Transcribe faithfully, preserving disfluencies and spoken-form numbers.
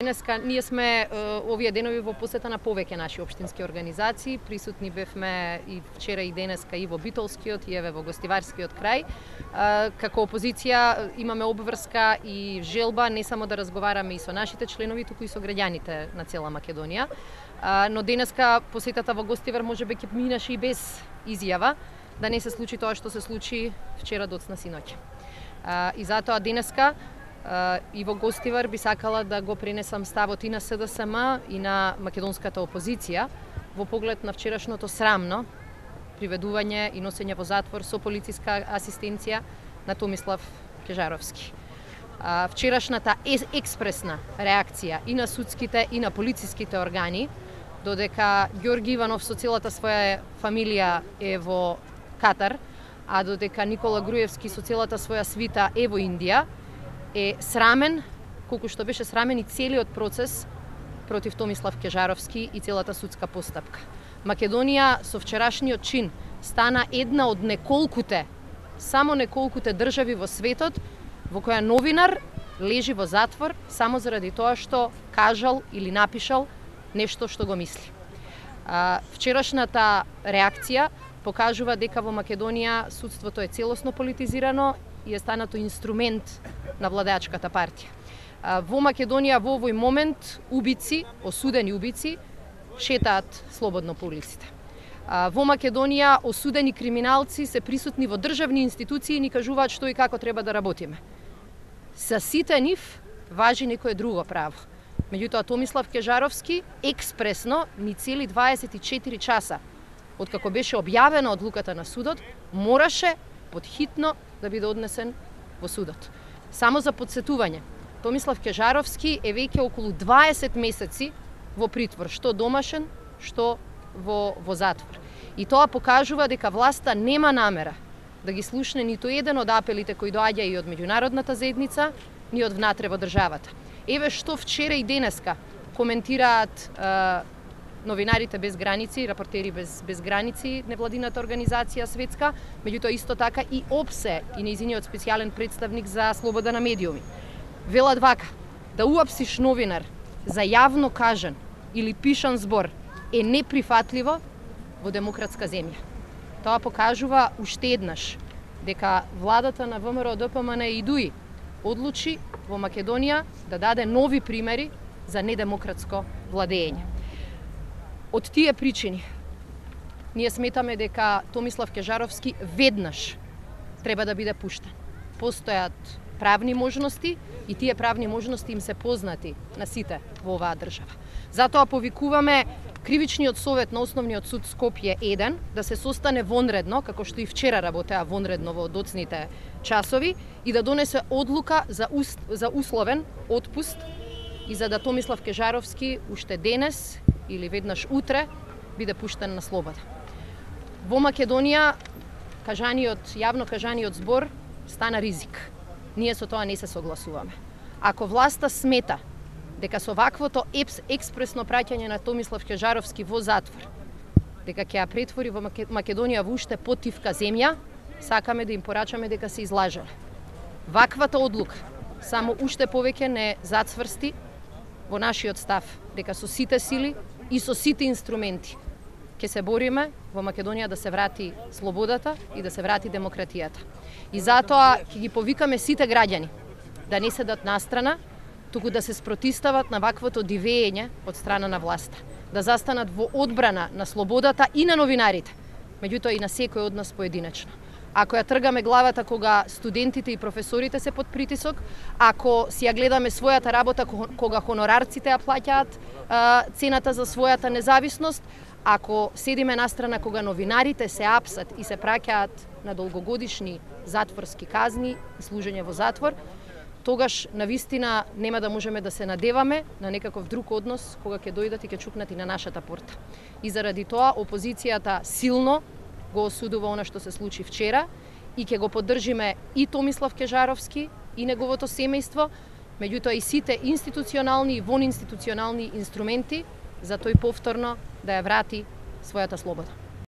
денеска ние сме овие денови во посета на повеќе наши општински организации. Присутни бевме и вчера и денеска и во Битолскиот и еве во Гостиварскиот крај. Како опозиција имаме обврска и желба не само да разговараме и со нашите членови, туку и со граѓаните на цела Македонија. Но денеска посетата во Гостивар можеби ќе минаше и без изјава, да не се случи тоа што се случи вчера доцна синоќ. И затоа денеска и во Гостивар би сакала да го пренесам ставот и на С Д С М и на македонската опозиција во поглед на вчерашното срамно приведување и носење во затвор со полициска асистенција на Томислав Кежаровски. Вчерашната експресна реакција и на судските и на полициските органи, додека Ѓорги Иванов со целата своја фамилија е во Катар, а додека Никола Груевски со целата своја свита е во Индија, е срамен, колку што беше срамен и целиот процес против Томислав Кежаровски и целата судска постапка. Македонија со вчерашниот чин стана една од неколкуте, само неколкуте држави во светот во која новинар лежи во затвор само заради тоа што кажал или напишал нешто што го мисли. Вчерашната реакција покажува дека во Македонија судството е целосно политизирано и е станато инструмент на владеачката партија. Во Македонија во овој момент убици, осудени убици, шетаат слободно по улиците. Во Македонија осудени криминалци се присутни во државни институции и ни кажуваат што и како треба да работиме. За сите нив важи некое друго право. Меѓутоа Томислав Кежаровски експресно ни цели дваесет и четири часа откако беше објавена одлуката на судот, мораше подхитно да биде однесен во судот. Само за подсетување, Томислав Кежаровски е веќе околу дваесет месеци во притвор, што домашен, што во, во затвор. И тоа покажува дека власта нема намера да ги слушне ниту еден од апелите кои доаѓа и од меѓународната заедница, ни од внатре во државата. Еве што вчера и денеска коментираат е, новинарите без граници, рапортери без, без граници, невладината организација светска, меѓутоа исто така и ОПСЕ и нејзиниот специјален представник за слобода на медиуми. Велат вака, да уапсиш новинар за јавно кажан или пишан збор е неприфатливо во демократска земја. Тоа покажува уште еднаш дека владата на В М Р Д П М Н и ДУИ одлучи во Македонија да даде нови примери за недемократско владење. Од тие причини ние сметаме дека Томислав Кежаровски веднаш треба да биде пуштен. Постојат правни можности и тие правни можности им се познати на сите во оваа држава. Затоа повикуваме Кривичниот совет на Основниот суд Скопје еден да се состане вонредно, како што и вчера работеа вонредно во доцните часови, и да донесе одлука за, ус, за условен отпуст и за да Томислав Кежаровски уште денес или веднаш утре биде пуштен на слобода. Во Македонија кажаниот, јавно кажаниот збор стана ризик. Ние со тоа не се согласуваме. Ако власта смета дека со ваквото експресно праќање на Томислав Кежаровски во затвор, дека ќе ја претвори во Македонија во уште потивка земја, сакаме да им порачаме дека се излажале. Ваквата одлука само уште повеќе не зацврсти во нашиот став дека со сите сили и со сите инструменти ќе се бориме во Македонија да се врати слободата и да се врати демократијата. И затоа ќе ги повикаме сите граѓани да не седат настрана, туку да се спротистават на ваквото дивење од страна на власта, да застанат во одбрана на слободата и на новинарите, меѓутоа и на секој од нас поединечно. Ако ја тргаме главата кога студентите и професорите се под притисок, ако си ја гледаме својата работа кога хонорарците ја плаќаат цената за својата независност, ако седиме настрана кога новинарите се апсат и се праќаат на долгогодишни затворски казни и служење во затвор, тогаш навистина нема да можеме да се надеваме на некаков друг однос кога ќе дојдат и ќе чукнат и на нашата порта. И заради тоа опозицијата силно го осудува она што се случи вчера и ќе го поддржиме и Томислав Кежаровски и неговото семејство, меѓутоа и сите институционални и вонинституционални инструменти за тој повторно да ја врати својата слобода.